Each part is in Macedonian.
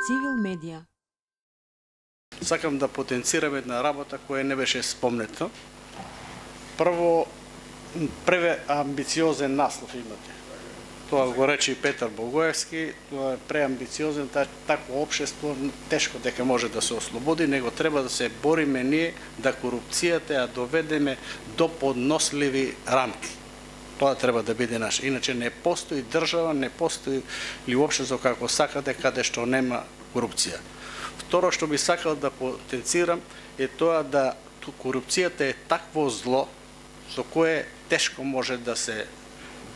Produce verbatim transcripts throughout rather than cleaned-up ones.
Цивил медија. Сакам да потенцирам една работа која не беше спомнета. Прво, преве амбициозен наслов имате. Тоа го рече и Петар Богоевски, тоа е преамбициозен, такво општество тешко дека може да се ослободи, него треба да се бориме ние да корупцијата ја доведеме до подносливи рамки. Тоа треба да биде наш. Иначе не постои држава, не постои ли општество како сакате каде што нема корупција. Второ што би сакал да потенцирам е тоа да корупцијата е такво зло со кое тешко може да се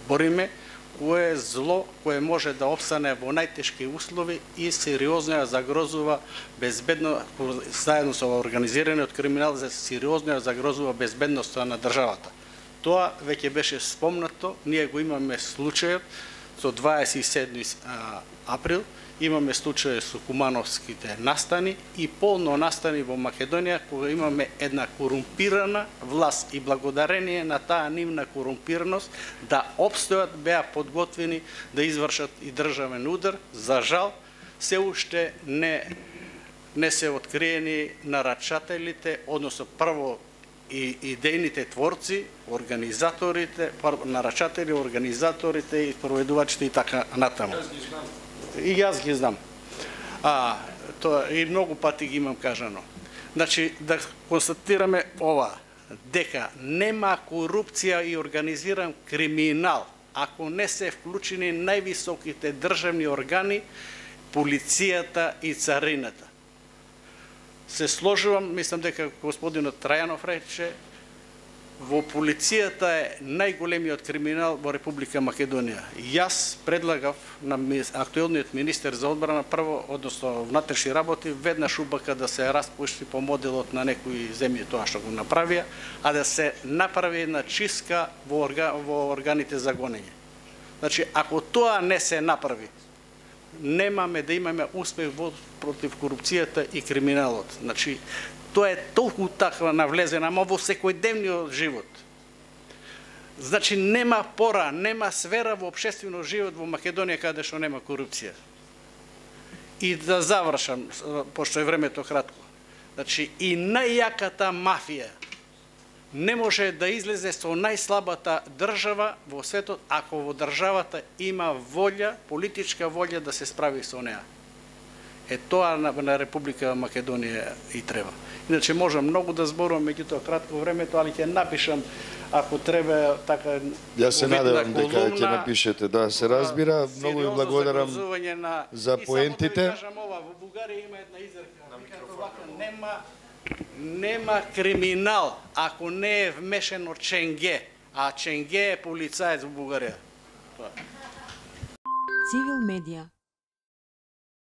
бориме, кое е зло кое може да опстане во најтешки услови и сериозно ја загрозува безбедно, заедно со организираниот криминал, сериозно ја загрозува безбедноста на државата. Тоа веќе беше спомнато, ние го имаме случајот со дваесет и седми април, имаме случај со кумановските настани и полно настани во Македонија, кога имаме една корумпирана власт и благодарение на таа нивна корумпираност да обстојат, беа подготвени да извршат и државен удар. За жал, се уште не, не се откриени нарачателите, односно прво и идејните творци, организаторите, нарачатели, организаторите и проведувачите и така натаму. И јас ги знам. А, тоа и многу пати ги имам кажано. Значи, да констатираме ова, дека нема корупција и организиран криминал, ако не се вклучени највисоките државни органи, полицијата и царината. Се сложувам, мислам дека господинот Трајанов рече, во полицијата е најголемиот криминал во Република Македонија. Јас предлагав на актуелниот министер за одбрана прво, односно внатрешни работи, веднаш убака да се распушти по моделот на некои земји тоа што го направија, а да се направи една чистка во, орга, во органите за гонење. Значи, ако тоа не се направи, немаме да имаме успех во против корупцијата и криминалот. Значи, тоа е толку таква навлезена, ама во секојдневниот живот. Значи, нема пора, нема сфера во општествениот живот во Македонија каде што нема корупција. И да завршам, пошто е времето кратко. Значи, и најјаката мафија не може да излезе со најслабата држава во светот, ако во државата има волја, политичка волја да се справи со неа. Е тоа на, на Република Македонија и треба. Иначе можам многу да зборувам, меѓутоа кратко времето, али ќе напишам ако треба така. Јас се надевам дека ќе напишете, да се разбира. Многу ви благодарам за поентите. И само да кажам ова, во Бугарија има една изрека, нема нема криминал ако не е вмешано Ченге, а Ченге е полицаец во Бугарија. Цивил медија.